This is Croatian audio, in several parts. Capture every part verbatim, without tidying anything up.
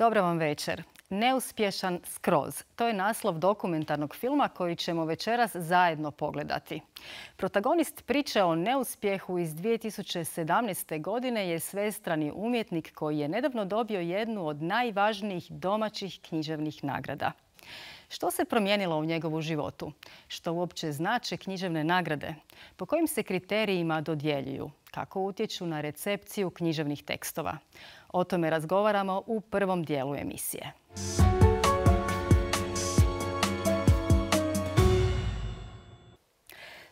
Dobro vam večer. Neuspješan skroz. To je naslov dokumentarnog filma koji ćemo večeras zajedno pogledati. Protagonist priče o neuspjehu iz dvije tisuće sedamnaeste. godine je svestrani umjetnik koji je nedavno dobio jednu od najvažnijih domaćih književnih nagrada. Što se promijenilo u njegovu životu? Što uopće znače književne nagrade? Po kojim se kriterijima dodjeljuju? Kako utječu na recepciju književnih tekstova? O tome razgovaramo u prvom dijelu emisije.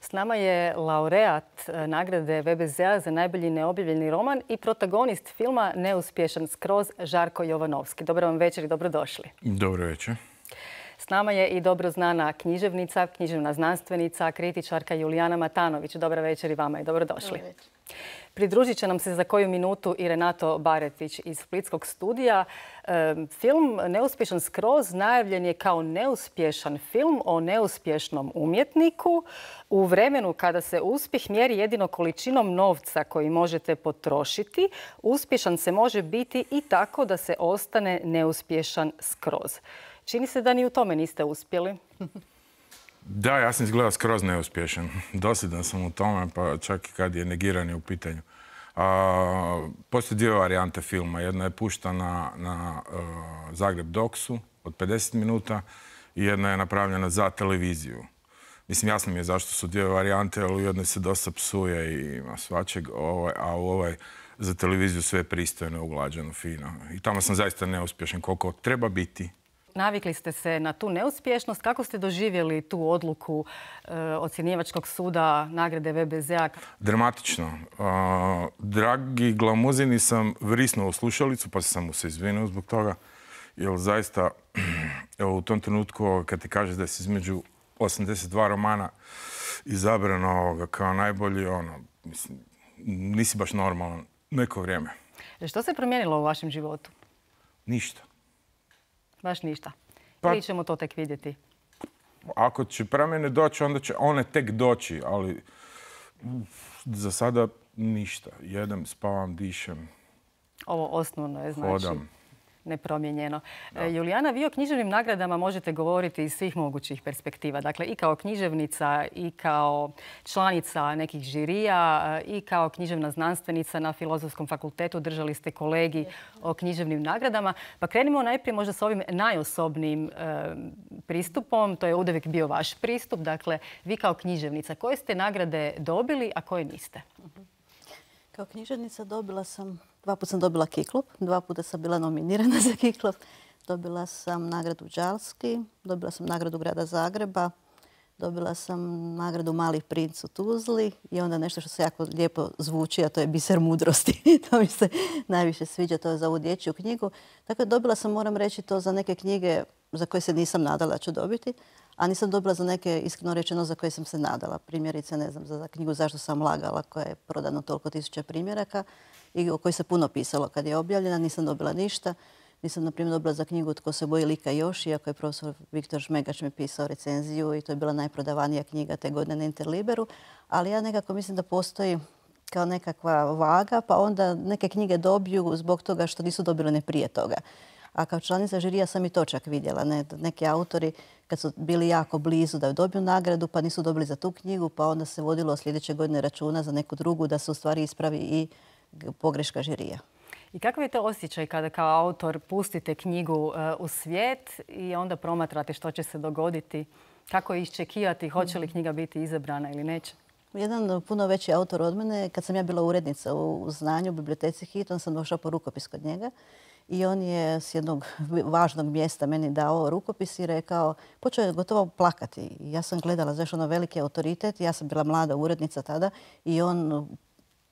S nama je laureat nagrade V B Z-a za najbolji neobjavljeni roman i protagonist filma Neuspješan skroz, Žarko Jovanovski. Dobro vam večer i dobrodošli. Dobro večer. S nama je i dobro znana književnica, književna znanstvenica, kritičarka Julijana Matanović. Dobra večer i vama i dobrodošli. Dobro večer. Pridružit će nam se za koju minutu i Renato Baretić iz Splitskog studija. Film Neuspješan skroz najavljen je kao neuspješan film o neuspješnom umjetniku u vremenu kada se uspjeh mjeri jedino količinom novca koji možete potrošiti. Uspješan se može biti i tako da se ostane neuspješan skroz. Čini se da ni u tome niste uspjeli. Da, ja sam izgledao skroz neuspješan. Dosljedan sam u tome, pa čak i kad je negiranje u pitanju. A, postoje dvije varijante filma. Jedna je puštana na uh, Zagreb Doksu od pedeset minuta i jedna je napravljena za televiziju. Mislim, jasno mi je zašto su dvije varijante, ali u jednoj se dosta psuje i ima svačeg, ovaj, a u ovoj za televiziju sve je pristojno, uglađeno, fino. I tamo sam zaista neuspješan koliko treba biti. Navikli ste se na tu neuspješnost. Kako ste doživjeli tu odluku e, ocjenjivačkog suda nagrade V B Z-a? Dramatično. Uh, dragi Glamuzini sam vrisnuo u slušalicu, pa sam mu se izvinuo zbog toga. Jer zaista, evo, u tom trenutku kad ti kažeš da si između osamdeset dva romana izabrano kao najbolji, ono, mislim, nisi baš normalan neko vrijeme. Što se promijenilo u vašem životu? Ništa. Baš ništa. Pa, ili ćemo to tek vidjeti? Ako će promjene doći, onda će one tek doći, ali za sada ništa. Jedem, spavam, dišem. Ovo osnovno je, znači, hodam. Nepromijenjeno. Da. Julijana, vi o književnim nagradama možete govoriti iz svih mogućih perspektiva. Dakle, i kao književnica, i kao članica nekih žirija, i kao književna znanstvenica na Filozofskom fakultetu. Držali ste kolegij o književnim nagradama. Pa krenimo najprije možda s ovim najosobnijim e, pristupom. To je uvijek bio vaš pristup. Dakle, vi kao književnica, koje ste nagrade dobili, a koje niste? Kao književnica dobila sam, dva puta sam dobila Kiklop, dva puta sam bila nominirana za Kiklop. Dobila sam nagradu Đalski, dobila sam nagradu Grada Zagreba, dobila sam nagradu Mali princ u Tuzli i onda nešto što se jako lijepo zvuči, a to je Biser mudrosti. To mi se najviše sviđa, to je za ovu dječju knjigu. Dakle, dobila sam, moram reći, to za neke knjige za koje se nisam nadala da ću dobiti, a nisam dobila za neke, iskreno rečeno, za koje sam se nadala. Primjerice, ne znam, za knjigu Zašto sam lagala, koja je prodano toliko tisuća primjeraka i o kojoj se puno pisalo kad je objavljena, nisam dobila ništa. Nisam, na primjer, dobila za knjigu Tko se boji lika još, iako je profesor Viktor Žmegač mi pisao recenziju i to je bila najprodavanija knjiga te godine na Interliberu. Ali ja nekako mislim da postoji kao nekakva vaga, pa onda neke knjige dobiju zbog toga što nisu dobile ne prije toga. A kao članica žirija sam i to čak vidjela. Ne, neki autori kad su bili jako blizu da dobiju nagradu pa nisu dobili za tu knjigu, pa onda se vodilo sljedeće godine računa za neku drugu da se u stvari ispravi i pogreška žirija. I kakav je to osjećaj kada kao autor pustite knjigu u svijet i onda promatrate što će se dogoditi? Kako iščekivati, hoće li knjiga biti izabrana ili neće? Jedan puno veći autor od mene, kad sam ja bila urednica u Znanju, u biblioteci Hit, on sam došla po rukopis kod njega. I on je s jednog važnog mjesta meni dao rukopis i rekao, počeo je gotovo plakati. I ja sam gledala, znaš, ono veliki autoritet, ja sam bila mlada urednica tada i on,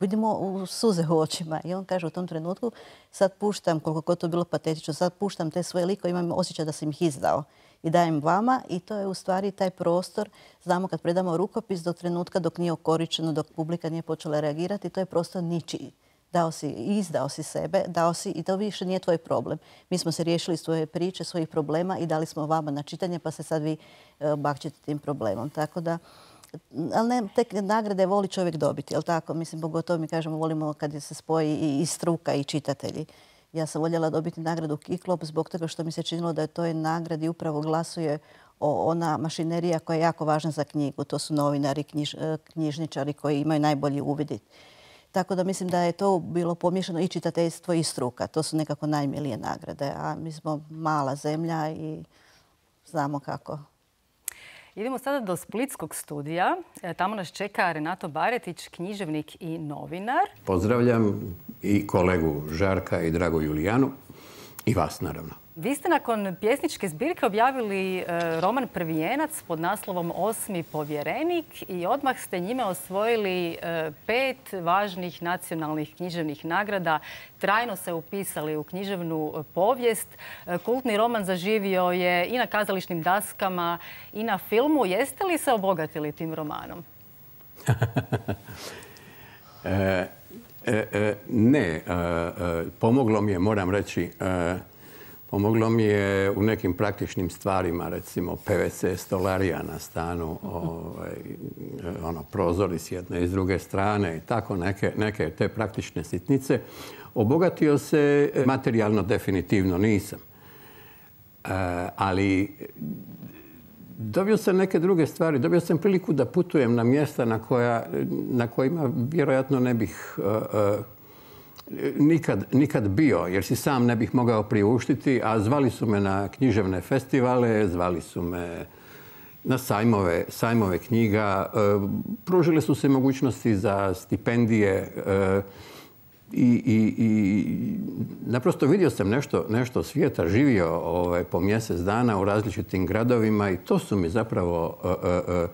vidimo, u suze u očima. I on kaže u tom trenutku, sad puštam, koliko god to bilo patetično, sad puštam te svoje likove, imam osjećaj da sam ih izdao i dajem vama i to je u stvari taj prostor, znamo kad predamo rukopis do trenutka dok nije okoričeno, dok publika nije počela reagirati, to je prostor ničiji. Dao si, izdao si sebe, dao si i to više nije tvoj problem. Mi smo se riješili svoje priče, svojih problema i dali smo vama na čitanje pa se sad vi bakćete tim problemom. Tako da, ali ne, tek nagrade voli čovjek dobiti, jel tako? Mislim, pogotovo mi kažemo, volimo kad se spoji i struka i čitatelji. Ja sam voljela dobiti nagradu Kiklop zbog toga što mi se činilo da je toj nagradi upravo glasuje o ona mašinerija koja je jako važna za knjigu. To su novinari, knjiž, knjižničari koji imaju najbolji uvid. Tako da mislim da je to bilo pomiješano i čitateljstvo i struka. To su nekako najmilije nagrade. A mi smo mala zemlja i znamo kako. Idemo sada do Splitskog studija. Tamo nas čeka Renato Baretić, književnik i novinar. Pozdravljam i kolegu Žarka i Dragu Julijanu i vas naravno. Vi ste nakon pjesničke zbirke objavili roman Prvijenac pod naslovom Osmi povjerenik i odmah ste njime osvojili pet važnih nacionalnih književnih nagrada. Trajno se upisali u književnu povijest. Kultni roman zaživio je i na kazališnim daskama i na filmu. Jeste li se obogatili tim romanom? e, e, e, ne. E, e, pomoglo mi je, moram reći, e, pomoglo mi je u nekim praktičnim stvarima, recimo P V C stolarija na stanu, ovaj, ono, prozori s jedne i s druge strane i tako neke, neke te praktične sitnice. Obogatio se materijalno definitivno nisam. E, ali dobio sam neke druge stvari. Dobio sam priliku da putujem na mjesta na, koja, na kojima vjerojatno ne bih uh, uh, nikad, nikad bio, jer si sam ne bih mogao priuštiti, a zvali su me na književne festivale, zvali su me na sajmove, sajmove knjiga, uh, pružile su se mogućnosti za stipendije uh, i, i, i naprosto vidio sam nešto, nešto svijeta, živio ovaj, po mjesec dana u različitim gradovima i to su mi zapravo uh, uh, uh,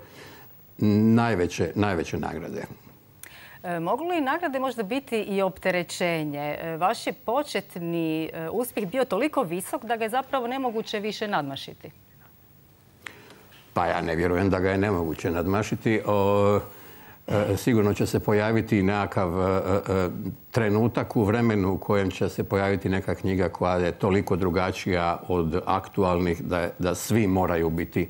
najveće, najveće nagrade. Mogu li nagrade možda biti i opterećenje? Vaš je početni uspjeh bio toliko visok da ga je zapravo nemoguće više nadmašiti. Pa ja ne vjerujem da ga je nemoguće nadmašiti. O, e, sigurno će se pojaviti nekakav e, e, trenutak u vremenu u kojem će se pojaviti neka knjiga koja je toliko drugačija od aktualnih da, da svi moraju biti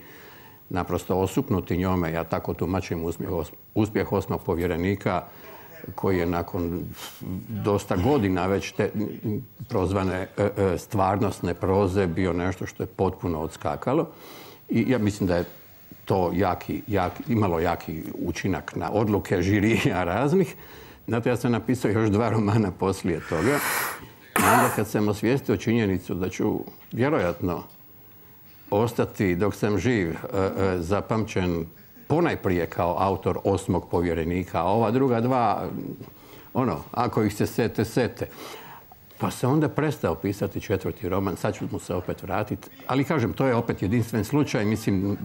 naprosto osupnuti njome. Ja tako tumačim uspjeh, uspjeh Osmog povjerenika koji je nakon dosta godina već te prozvane stvarnostne proze bio nešto što je potpuno odskakalo. I ja mislim da je to jaki, jaki, imalo jaki učinak na odluke žirija raznih. Znate, ja sam napisao još dva romana poslije toga. I onda kad sam osvijestio činjenicu da ću vjerojatno ostati dok sam živ zapamćen ponajprije kao autor Osmog povjerenika, a ova druga dva, ono, ako ih se sete, sete. Pa sam onda prestao pisati četvrti roman, sad ću mu se opet vratiti. Ali kažem, to je opet jedinstven slučaj, mislim,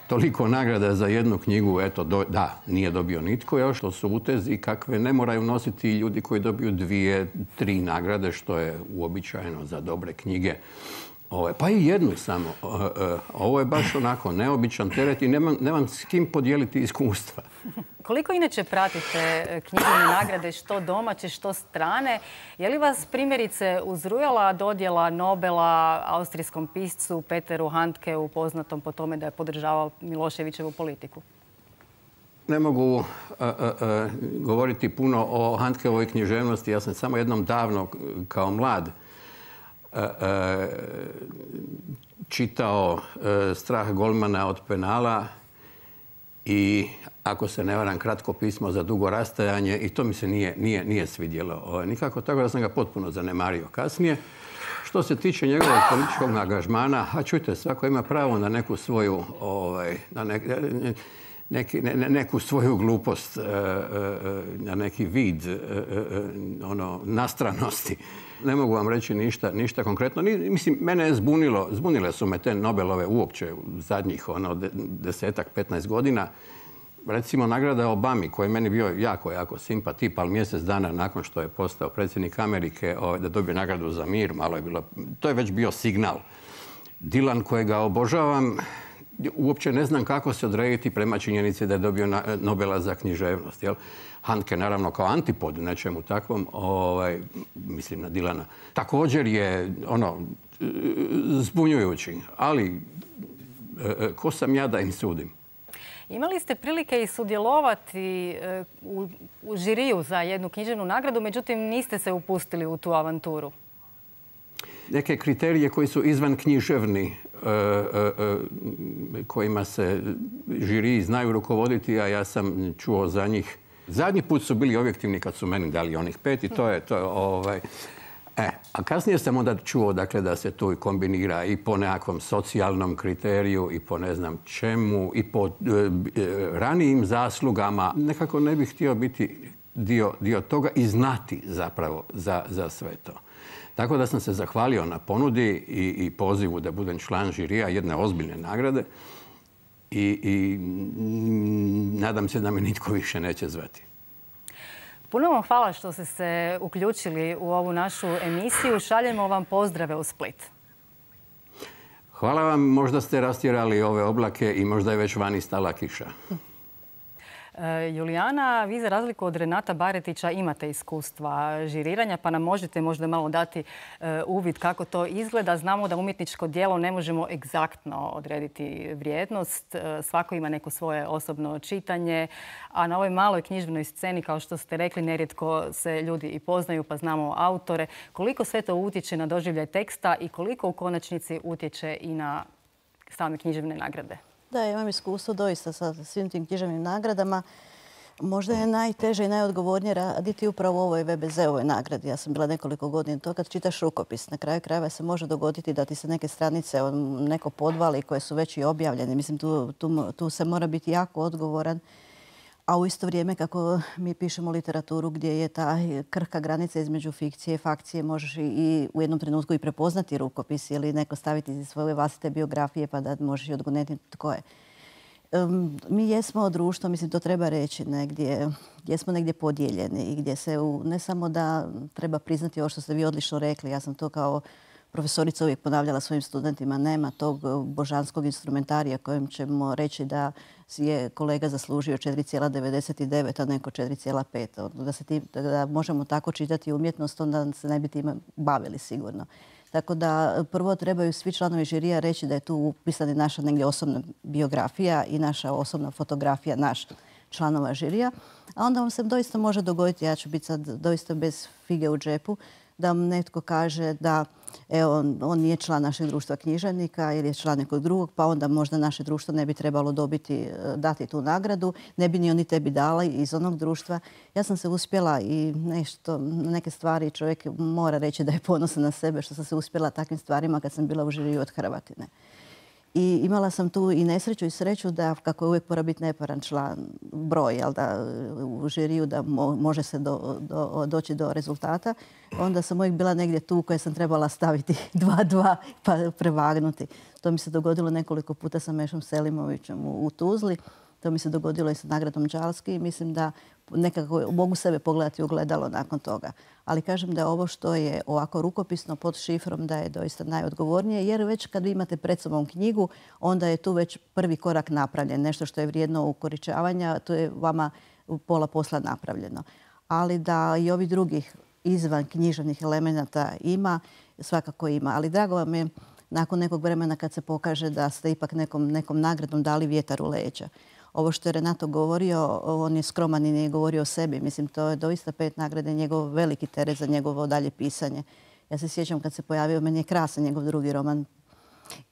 toliko nagrada za jednu knjigu, eto, do, da, nije dobio nitko još, to su utezi kakve ne moraju nositi ljudi koji dobiju dvije, tri nagrade, što je uobičajeno za dobre knjige. Ovo, pa i jednu samo. Ovo je baš onako neobičan teret i nemam, nemam s kim podijeliti iskustva. Koliko inače pratite književne nagrade, što domaće, što strane? Je li vas primjerice uzrujala dodjela Nobela austrijskom piscu Peteru Handkeu, poznatom po tome da je podržavao Miloševićevu politiku? Ne mogu uh, uh, uh, govoriti puno o Handkeovoj književnosti. Ja sam samo jednom davno kao mlad čitao Strah golmana od penala i, ako se ne varam, Kratko pismo za dugo rastajanje i to mi se nije, nije, nije svidjelo nikako, tako da sam ga potpuno zanemario kasnije. Što se tiče njegovog političkog angažmana, a čujte, svako ima pravo na neku svoju, ovaj, na ne, neki, ne, neku svoju glupost, na neki vid ono, nastranosti. Ne mogu vam reći ništa, ništa konkretno. Mislim, mene je zbunilo, zbunile su me te Nobelove uopće u zadnjih ono, desetak, petnaest godina. Recimo, nagrada Obami, koji je meni bio jako, jako simpa tip, ali mjesec dana nakon što je postao predsjednik Amerike, da dobije nagradu za mir, malo je bilo, to je već bio signal. Dylan, kojega obožavam, uopće ne znam kako se odrediti prema činjenici da je dobio Nobela za književnost. Jel? Handke, naravno, kao antipod nečemu takvom, ovaj, mislim na Dylana, također je ono, zbunjujući. Ali ko sam ja da im sudim? Imali ste prilike i sudjelovati u, u žiriju za jednu književnu nagradu, međutim niste se upustili u tu avanturu. neke kriterije koji su izvan književni, kojima se žiri znaju rukovoditi, a ja sam čuo za njih. Zadnji put su bili objektivni kad su meni dali onih pet i to je to. Ovaj. E, a kasnije sam onda čuo dakle, da se tu kombinira i po nekakvom socijalnom kriteriju i po ne znam čemu i po e, ranijim zaslugama. Nekako ne bih htio biti dio, dio toga i znati zapravo za, za sve to. Tako da sam se zahvalio na ponudi i, i pozivu da budem član žirija jedne ozbiljne nagrade i, i nadam se da me nitko više neće zvati. Puno vam hvala što ste se uključili u ovu našu emisiju. Šaljemo vam pozdrave u Split. Hvala vam. Možda ste rastjerali ove oblake i možda je već vani stala kiša. Julijana, vi za razliku od Renata Baretića imate iskustva žiriranja, pa nam možete možda malo dati uvid kako to izgleda. Znamo da umjetničko djelo ne možemo egzaktno odrediti vrijednost. Svako ima neko svoje osobno čitanje, a na ovoj maloj književnoj sceni, kao što ste rekli, nerijetko se ljudi i poznaju, pa znamo autore. Koliko sve to utječe na doživljaj teksta i koliko u konačnici utječe i na same književne nagrade? Da, imam iskustvo doista sa svim tim književnim nagradama. Možda je najteže i najodgovornije raditi upravo u ovoj ve be ze-ovoj nagradi. Ja sam bila nekoliko godina to kad čitaš rukopis. Na kraju krajeva se može dogoditi da ti se neke stranice neko podvali koje su već i objavljene. Mislim, tu, tu, tu se mora biti jako odgovoran. A u isto vrijeme kako mi pišemo literaturu gdje je ta krhka granica između fikcije i fakcije, možeš i u jednom trenutku i prepoznati rukopis ili neko staviti iz svoje vlastite biografije pa da možeš i odgonetiti tko je. Um, mi jesmo društvo, mislim to treba reći, negdje, gdje smo negdje podijeljeni i gdje se u, ne samo da treba priznati ovo što ste vi odlično rekli, ja sam to kao profesorica uvijek ponavljala svojim studentima, nema tog božanskog instrumentarija kojem ćemo reći da je kolega zaslužio četiri zarez devedeset devet, a neko četiri zarez pet. Da, se tim, da možemo tako čitati umjetnost, onda se ne bi time bavili sigurno. Tako da prvo trebaju svi članovi žirija reći da je tu upisana naša negdje osobna biografija i naša osobna fotografija naš članova žirija. A onda vam se doista može dogoditi, ja ću biti sad doista bez fige u džepu, da vam netko kaže da evo, on, on nije član našeg društva književnika ili je član nekog drugog, pa onda možda naše društvo ne bi trebalo dobiti, dati tu nagradu, ne bi ni oni tebi dali iz onog društva. Ja sam se uspjela i nešto, neke stvari čovjek mora reći da je ponosan na sebe što sam se uspjela takvim stvarima kad sam bila u žiriju od Hrvatine. I imala sam tu i nesreću i sreću da, kako je uvijek mora biti neparan član broj, jel da u žiriju da mo, može se do, do, doći do rezultata, onda sam uvijek bila negdje tu koja sam trebala staviti dva dva pa prevagnuti. To mi se dogodilo nekoliko puta sa Mešom Selimovićem u, u Tuzli. To mi se dogodilo i sa nagradom Đalski i mislim da nekako mogu sebe pogledati u ogledalo nakon toga. Ali kažem da je ovo što je ovako rukopisno pod šifrom da je doista najodgovornije, jer već kad vi imate pred sobom knjigu, onda je tu već prvi korak napravljen. Nešto što je vrijedno ukoričavanja, to je vama pola posla napravljeno. Ali da i ovih drugih izvan književnih elemenata ima, svakako ima. Ali drago vam je nakon nekog vremena kad se pokaže da ste ipak nekom, nekom nagradom dali vjetar u leđa. Ovo što je Renato govorio, on je skroman i nije govorio o sebi. Mislim, to je doista pet nagrade, njegov veliki teret za njegovo dalje pisanje. Ja se sjećam kad se pojavio, meni je krasan njegov drugi roman.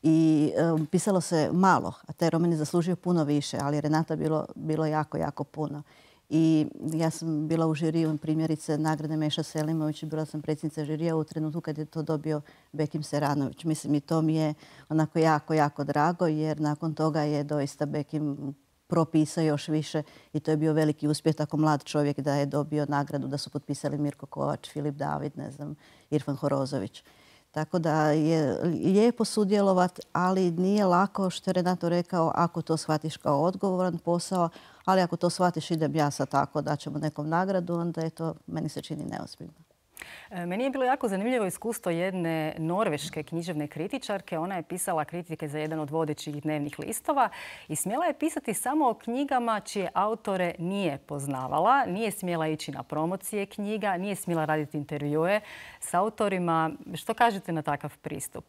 I um, pisalo se malo, a taj roman je zaslužio puno više, ali Renata bilo, bilo jako, jako puno. I ja sam bila u žiriju primjerice nagrade Meša Selimović, bila sam predsjednica žirija u trenutku kad je to dobio Bekim Seranović. Mislim, i to mi je onako jako, jako drago, jer nakon toga je doista Bekim propisao još više i to je bio veliki uspjeh tako mlad čovjek da je dobio nagradu, da su potpisali Mirko Kovač, Filip David, ne znam, Irfan Horozović. Tako da je lijepo sudjelovati, ali nije lako, što je Renato rekao, ako to shvatiš kao odgovoran posao, ali ako to shvatiš idem ja sad tako da ćemo nekom nagradu, onda je to, meni se čini neozbiljno. Meni je bilo jako zanimljivo iskustvo jedne norveške književne kritičarke. Ona je pisala kritike za jedan od vodećih dnevnih listova i smjela je pisati samo o knjigama čije autore nije poznavala. Nije smjela ići na promocije knjiga, nije smjela raditi intervjue s autorima. Što kažete na takav pristup?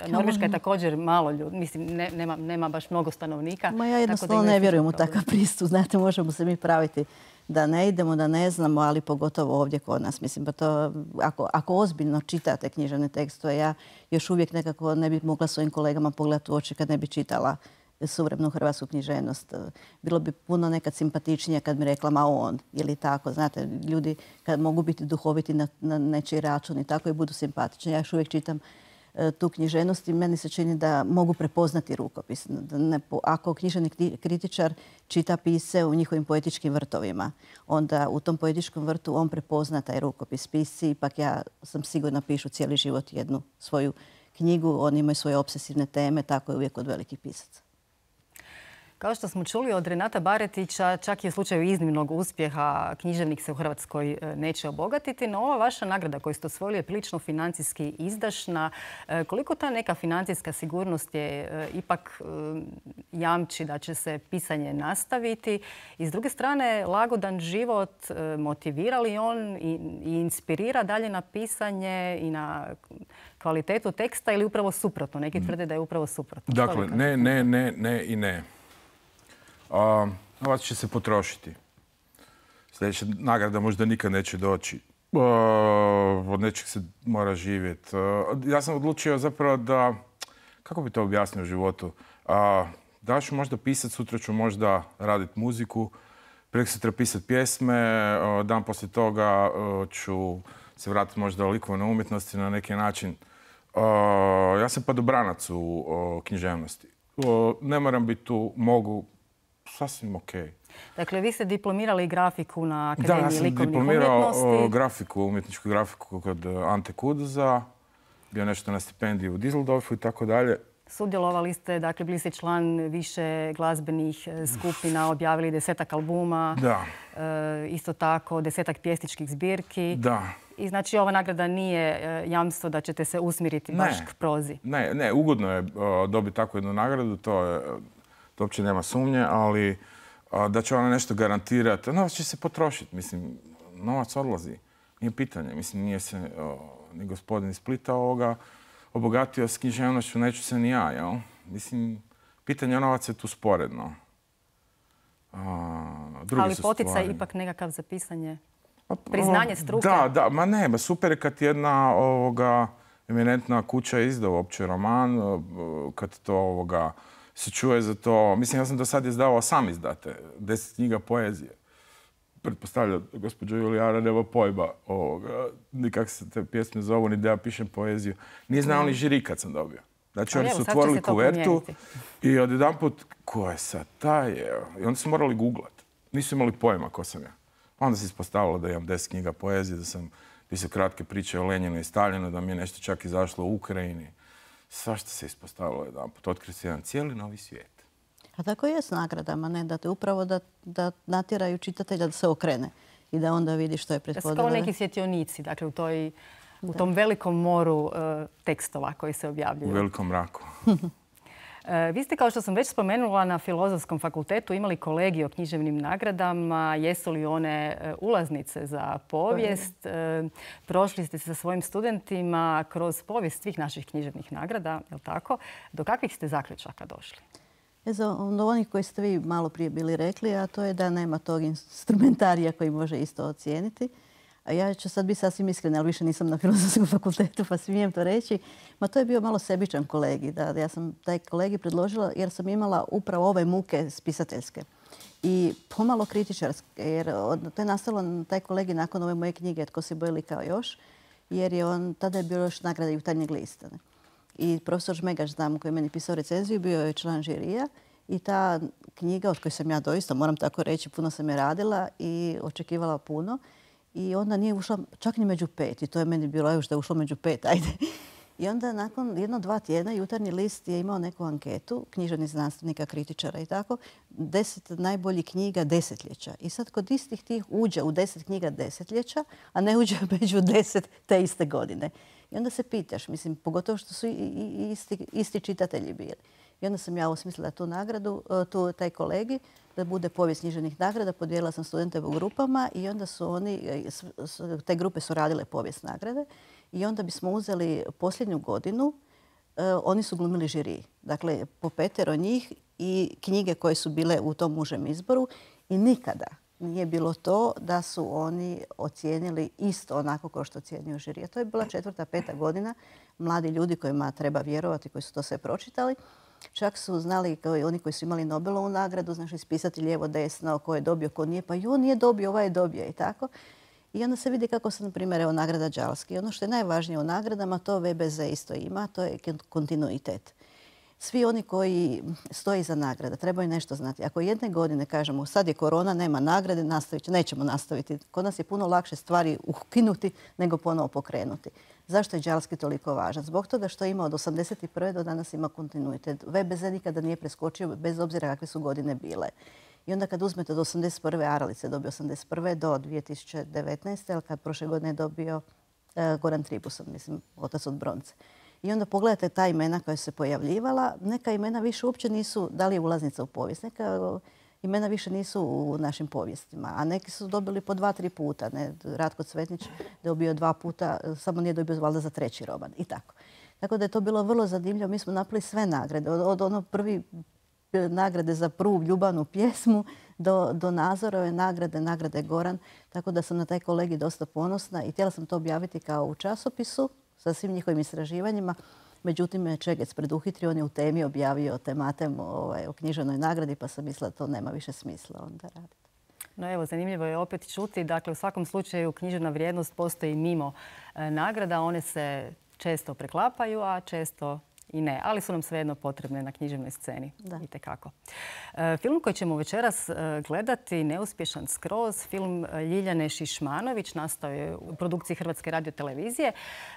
Norveška je također malo ljudi, mislim, ne, nema, nema baš mnogo stanovnika. Ma ja jednostavno ne vjerujem u takav pristup. Znate, možemo se mi praviti da ne idemo, da ne znamo, ali pogotovo ovdje kod nas. Mislim, pa to, ako, ako ozbiljno čitate književne tekstove, ja još uvijek nekako ne bi mogla svojim kolegama pogledati u oči kad ne bi čitala suvremenu hrvatsku književnost. Bilo bi puno nekad simpatičnije kad mi rekla ma on ili tako. Znate, ljudi kad mogu biti duhoviti na, na nečiji račun i tako i budu simpatični. Ja još uvijek čitam e, tu književnost i meni se čini da mogu prepoznati rukopis. Da ne, ako književni kritičar čita pisce u njihovim poetičkim vrtovima, onda u tom poetičkom vrtu on prepozna taj rukopis. Pisci, ipak ja sam sigurna, pišu cijeli život jednu svoju knjigu. Oni imaju svoje obsesivne teme, tako je uvijek od velikih pisaca. Kao što smo čuli od Renata Baretića, čak i u slučaju iznimnog uspjeha književnik se u Hrvatskoj neće obogatiti, no ova vaša nagrada koju ste osvojili je prilično financijski izdašna. Koliko ta neka financijska sigurnost je ipak jamči da će se pisanje nastaviti? I s druge strane, lagodan život motivira li on i inspirira dalje na pisanje i na kvalitetu teksta ili upravo suprotno? Neki tvrde da je upravo suprotno. Dakle, ne, ne, ne, ne i ne. A, novac će se potrošiti. Sljedeća nagrada možda nikad neće doći. A, od nečeg se mora živjeti. A, ja sam odlučio zapravo da, kako bi to objasnio u životu, a, da ću možda pisati, sutra ću možda raditi muziku, preksutra pisati pjesme, a, dan poslije toga a, ću se vratiti možda u likovne umjetnosti na neki način. A, ja sam padobranac u a, književnosti. A, ne moram biti tu, mogu, sasvim ok. Dakle, vi ste diplomirali grafiku na Akademiji likovnih umjetnosti. Da, ja sam diplomirao grafiku, umjetničku grafiku kod Ante Kuduza. Bio nešto na stipendiju u Düsseldorfu i tako dalje. Sudjelovali ste, dakle, bili ste član više glazbenih skupina, objavili desetak albuma. Da. E, isto tako, desetak pjesničkih zbirki. Da. I znači ova nagrada nije jamstvo da ćete se usmjeriti baš k prozi. Ne, ne, ugodno je dobiti takvu jednu nagradu, to je... To uopće nema sumnje, ali a, da će ona nešto garantirati. Novac će se potrošiti. Mislim, novac odlazi. Nije pitanje. Mislim, nije se o, ni gospodin iz Splita ovoga obogatio s književnošću, neću se ni ja, jel? Mislim, pitanje novaca je tu sporedno. A, ali poticaj ipak nekakav za pisanje? Priznanje struke? Da, da, ma ne, ma super je kad jedna ovoga eminentna kuća izda uopće roman, kad to ovoga se čuje za to. Mislim, ja sam do sad izdavao sam izdate deset knjiga poezije. Pretpostavljam, gospođa Julijana nema pojma ovoga, ni kako se te pjesme zovu, ni da ja pišem poeziju. Nije znao ni žiri kad sam dobio. Znači, oni su otvorili kuvertu i odjedanput, ko je sad taj? I onda su morali googlat. Nisu imali pojma ko sam ja. Onda se ispostavilo da imam deset knjiga poezije, da sam pisao kratke priče o Lenjinu i Staljinu, da mi je nešto čak izašlo u Ukrajini. Svašta se ispostavilo jedanput. Otkrio se jedan cijeli novi svijet. A tako je s nagradama, ne? Da te upravo da, da natjeraju čitatelja da se okrene i da onda vidi što je prethodilo. Da su kao neki svjetionici, dakle u, toj, u tom velikom moru uh, tekstova koji se objavljuju. U velikom mraku. Vi ste, kao što sam već spomenula, na Filozofskom fakultetu imali kolegij o književnim nagradama. Jesu li one ulaznice za povijest? Prošli ste sa svojim studentima kroz povijest svih naših književnih nagrada, je li tako? Do kakvih ste zaključaka došli? Do onih koji ste vi malo prije bili rekli, a to je da nema tog instrumentarija koji može isto ocijeniti. A ja ću sad biti sasvim iskrena, ali više nisam na Filozofskom fakultetu, pa smijem to reći. Ma to je bio malo sebičan kolegi. Da, ja sam taj kolegi predložila jer sam imala upravo ove muke spisateljske. I pomalo kritičarske, jer to je nastalo taj kolegi nakon ove moje knjige Tko se boji kao još, jer je on, tada je bio još nagrada Jutarnjeg lista. I profesor Žmegaš, znam, koji je meni pisao recenziju, bio je član žirija. I ta knjiga, od koje sam ja doista, moram tako reći, puno sam je radila i očekivala puno. I onda nije ušla čak ni među pet. I to je meni bilo još da je ušlo među pet, ajde. I onda nakon jedno, dva tjedna Jutarnji list je imao neku anketu književnih znanstvenika, kritičara i tako. Deset najboljih knjiga desetljeća. I sad kod istih tih uđe u deset knjiga desetljeća, a ne uđe među deset te iste godine. I onda se pitaš, mislim, pogotovo što su isti, isti čitatelji bili. I onda sam ja osmislila tu nagradu, tu, taj kolegi, da bude povijest književnih nagrada. Podijelila sam studente u grupama i onda su oni, te grupe su radile povijest nagrade. I onda bismo uzeli posljednju godinu, oni su glumili žiri. Dakle, po petero njih i knjige koje su bile u tom užem izboru. I nikada nije bilo to da su oni ocijenili isto onako kao što ocjenio žiri. A to je bila četvrta, peta godina. Mladi ljudi kojima treba vjerovati, koji su to sve pročitali. Čak su znali, kao i oni koji su imali Nobelovu nagradu, znači ispisati lijevo, desno, ko je dobio, ko nije. Pa i on nije dobio, ovaj je dobio i tako. I onda se vidi kako se, na primjer, evo nagrada Đalski. Ono što je najvažnije u nagradama, to V B Z isto ima, to je kontinuitet. Svi oni koji stoje iza nagrada trebaju nešto znati. Ako jedne godine kažemo sad je korona, nema nagrade, nastavit, nećemo nastaviti. Kod nas je puno lakše stvari ukinuti nego ponovo pokrenuti. Zašto je Đalski toliko važan? Zbog toga što ima od osamdeset prve do danas ima kontinuitet. V B Z nikada nije preskočio bez obzira kakve su godine bile. I onda kad uzmete od osamdeset prve Aralice dobio osamdeset prve do dvije tisuće devetnaeste. ali kad prošle godine je dobio uh, Goran Tribuson, mislim, otac od bronce. I onda pogledate ta imena koja su se pojavljivala. Neka imena više uopće nisu, da li je ulaznica u povijest, neka imena više nisu u našim povijestima. A neki su dobili po dva, tri puta. Ne? Ratko Cvetnić dobio dva puta, samo nije dobio valjda za treći roman. I tako. Tako da je to bilo vrlo zanimljivo. Mi smo napravili sve nagrade. Od, od ono prvi nagrade za prvu ljubavnu pjesmu do, do Nazorove nagrade, nagrade Goran. Tako da sam na taj kolegi dosta ponosna i htjela sam to objaviti kao u časopisu sa svim njihovim istraživanjima. Međutim, me Čegec preduhitrio, on je u temi objavio tematem ovaj, o književnoj nagradi, pa sam mislila da to nema više smisla onda raditi. No evo, zanimljivo je opet čuti. Dakle, u svakom slučaju književna vrijednost postoji mimo e, nagrada. One se često preklapaju, a često i ne. Ali su nam svejedno potrebne na književnoj sceni. Da. Itekako. E, film koji ćemo večeras e, gledati, Neuspješan skroz, film Ljiljane Šišmanović, nastao je u produkciji Hrvatske radiotelevizije.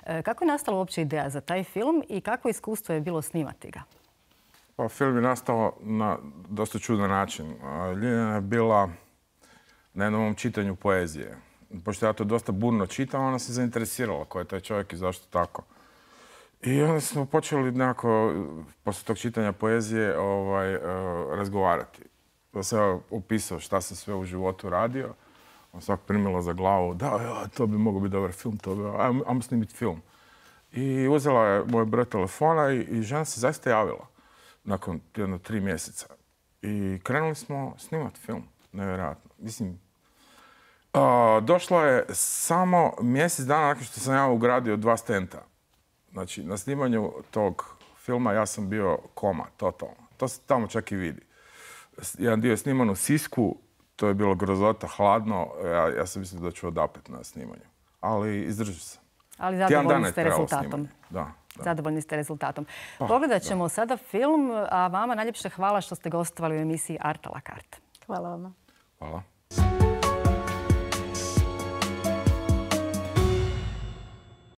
E, kako je nastala uopće ideja za taj film i kakvo iskustvo je bilo snimati ga? Pa, film je nastao na dosta čudan način. Ljiljana je bila na jednom čitanju poezije. Pošto ja to dosta burno čitam, ona se zainteresirala ko je taj čovjek i zašto tako. I onda smo počeli nekako, poslije tog čitanja poezije, ovaj, uh, razgovarati. Da se ja opisao šta sam sve u životu radio. On svak primilo za glavu, da, ja, to bi mogao biti dobar film, to bi, ajmo, ajmo snimiti film. I uzela je moj broj telefona i, i žena se zaista javila nakon jedno tri mjeseca. I krenuli smo snimati film, nevjerojatno. Mislim, uh, došlo je samo mjesec dana nakon što sam ja ugradio dva stenta. Znači, na snimanju tog filma ja sam bio koma, totalno. To se tamo čak i vidi. Jedan dio je sniman u Sisku, to je bilo grozota, hladno. Ja, ja sam mislio da ću odapet na snimanju. Ali izdržao sam. Ali zadovoljni ste rezultatom. Da, da. Zadovoljni ste rezultatom. Pa, pogledat ćemo da. sada film, a vama najljepše hvala što ste gostovali u emisiji Art a la carte. Hvala vama. Hvala.